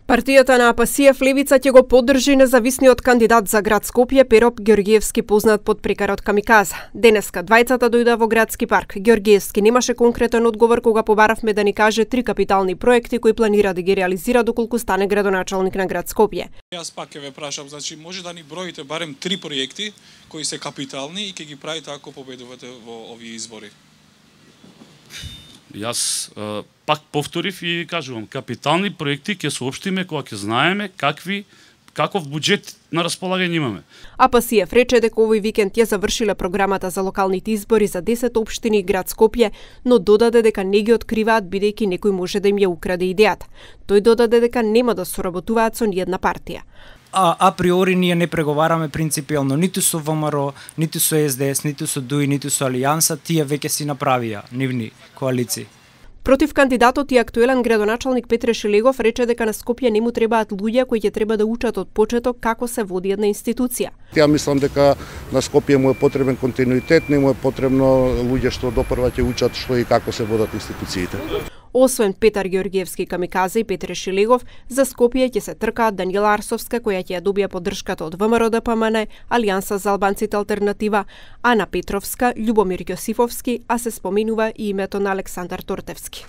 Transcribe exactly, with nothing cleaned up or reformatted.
Партијата на Апасиев Левица ќе го поддржи независниот кандидат за град Скопје Пероп Ѓорѓиевски, познат под прекарот Камиказа. Денеска двајцата дојда во градски парк. Ѓорѓиевски немаше конкретен одговор кога побаравме да ни каже три капитални проекти кои планира да ги реализира доколку стане градоначалник на град Скопје. Јас пак ќе ве прашам, значи може да ни броите барем три проекти кои се капитални и ќе ги правите ако победувате во овие избори. Јас е, пак повторив и кажувам, капитални проекти ќе соопштиме кога ќе знаеме какви каков буџет на располагање имаме. Апасиев рече дека овој викенд ја завршиле програмата за локалните избори за десет општини и град Скопје, но додаде дека не ги откриваат бидејќи некој може да им ја украде идејата. Тој додаде дека нема да соработуваат со ниедна партија. А априори ние не преговараме принципијално ниту со ВМРО, ниту со Ес Де Ес, ниту со ДУИ, ниту со Алијанса, тие веќе си направија нивни коалиции. Против кандидатот и актуелен градоначалник Петре Шелегов рече дека на Скопје не му требаат луѓе кои ќе треба да учат од почеток како се води една институција. Ја мислам дека на Скопје му е потребен континуитет, не му е потребно луѓе што допрва ќе учат што и како се водат институциите. Освен Петар Ѓорѓиевски Камиказа и Петре Шелегов, за Скопје ќе се тркаат Даниела Арсовска, која ќе ја добија поддршката од ВМРО Д П М Н, Алијанса за албанците Алтернатива, Ана Петровска, Љубомир Јосифовски, а се споменува и името на Александар Тортевски.